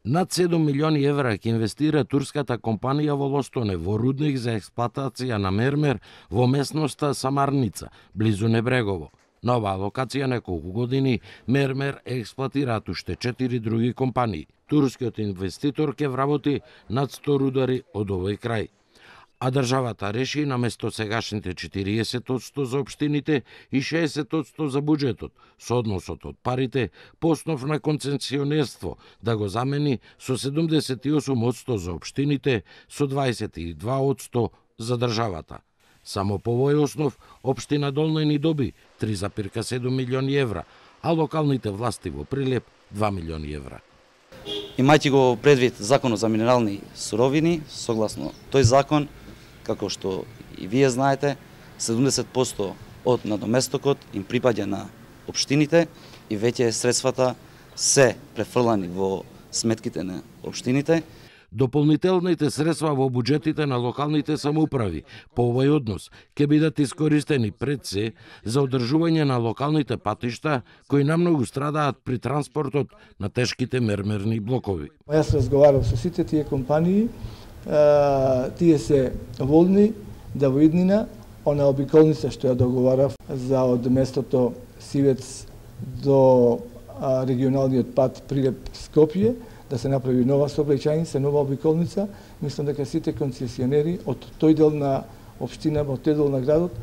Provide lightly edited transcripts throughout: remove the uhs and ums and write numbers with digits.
Над 7 милиони евра ќе инвестира турската компанија во Лостоне во рудник за експлоатација на мермер во местноста Самарница, близу Небрегово. На оваа локација неколку години мермер експлоатираат уште 4 други компании. Турскиот инвеститор ќе вработи над 100 рудари од овој крај. А државата реши наместо сегашните 40% за општините и 60% за буџетот, со односот од парите по основ на концесионерство да го замени со 78% за општините, со 22% за државата. Само по овој основ, општина Долна ни доби 3,7 милиони евра, а локалните власти во Прилеп 2 милиони евра. Имајќи го предвид Законот за минерални суровини, согласно тој закон, како што и вие знаете, 70% од надоместокот им припаѓа на општините и веќе средствата се префрлани во сметките на општините. Дополнителните средства во буџетите на локалните самоуправи по овој однос ќе бидат искористени пред се за одржување на локалните патишта кои намногу страдаат при транспортот на тешките мермерни блокови. Јас разговарав со сите тие компании, тие се волни да во иднина она обиколница што ја договарав за од местото Сивец до регионалниот пат Прилеп-Скопје, да се направи нова сообраќајница, нова обиколница. Мислам дека сите концесионери од тој дел на општина, од тој дел на градот,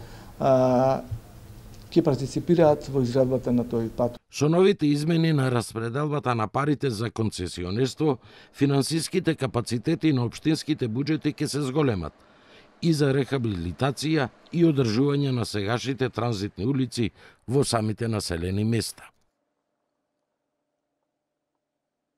ќе партиципираат во изградбата на тој пат. Со новите измени на распределбата на парите за концесионерство, финансиските капацитети на општинските буџети ќе се зголемат и за рехабилитација и одржување на сегашните транзитни улици во самите населени места.